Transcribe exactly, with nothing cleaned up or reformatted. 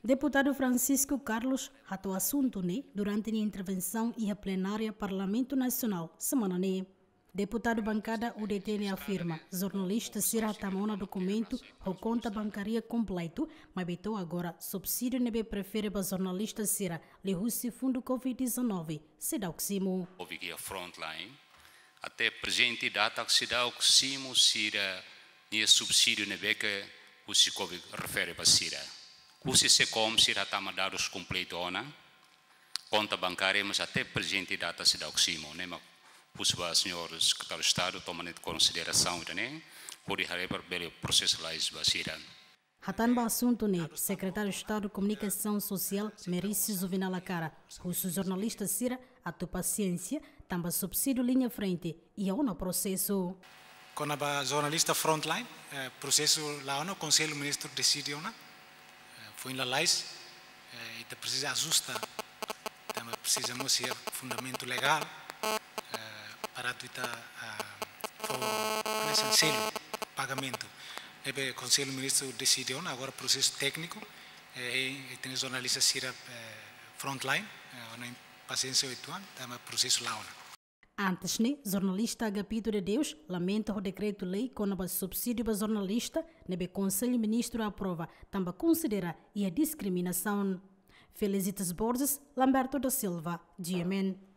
Deputadu Francisco Carlos hato'o asuntu ne'e durante nia intervensaun iha plenária Parlamentu Nasionál semana ne'e. Deputadu bankada U D T ne'e afirma, jornalista sira hatama ona dokumentu ho konta bankária kompletu, maibé to'o agora subsídiu ne'ebé prefere ba jornalista sira liuhusi fundu covid dezanove seidauk simu. Obi ki frontline, até prezente data seidauk simu sira-nia subsídiu ne'ebé ke husi covid refere ba sira. Husi SECOM sira hatama dadus kompletu ona, konta bankária, mas até prezente data seidauk simu, ne'e mak husu ba señór Sekretáriu Estadu toma iha konsiderasaun ida-ne'e, hodi haree para bele prosesu lalais ba sira. Hatán ba asuntu ne'e, Sekretáriu Estadu Komunikasaun Sosiál, Merício Juvenal Acara, husu jornalista sira atu pasiénsia, tanba subsídiu liña frente iha ona prosesu. Kona-ba jornalista frontline, eh, prosesu la'o ona, Konsellu Ministru deside ona, eh, foin lalais, eh, ita presiza ajusta, tanba presiza mós iha fundamentu legál, eh, para atu ita, ah, fó, hanesan selu pagamentu. Ne'ebé Konsellu Ministru deside ona, agora prosesu tékniku, eh, e, e tem jornalista sira, eh, frontline, eh, ona pasiénsia uitoan, tanba prosesu la'o ona. Antes ne'e, jornalista Agapito de Deus lamenta ho dekretu-lei kona-ba subsídiu ba jornalista ne'ebé Konsellu Ministru aprova, tanba konsidera iha diskriminasaun. Felicitas Borges, Lamberto da Silva, G M N.